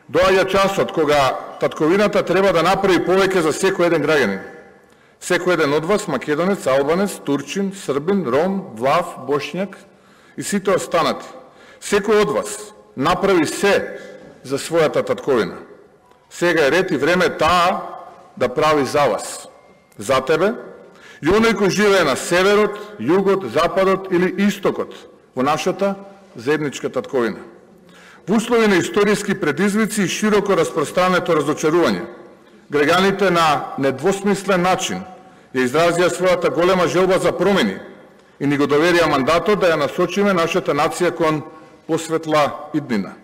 Доаѓа часот кога татковината треба да направи повеќе за секој еден граѓанин. Секој еден од вас, македонец, албанец, турчин, србин, ром, влав, бошњак и сите останати. Секој од вас направи се за својата татковина. Сега е ред и време таа да прави за вас, за тебе, и оној кој живее на северот, југот, западот или истокот во нашата заедничка татковина. Во услови на историски предизвици и широко распространето разочарување, граѓаните на недвосмислен начин ја изразија својата голема желба за промени и ни го доверија мандатот да ја насочиме нашата нација кон посветла иднина.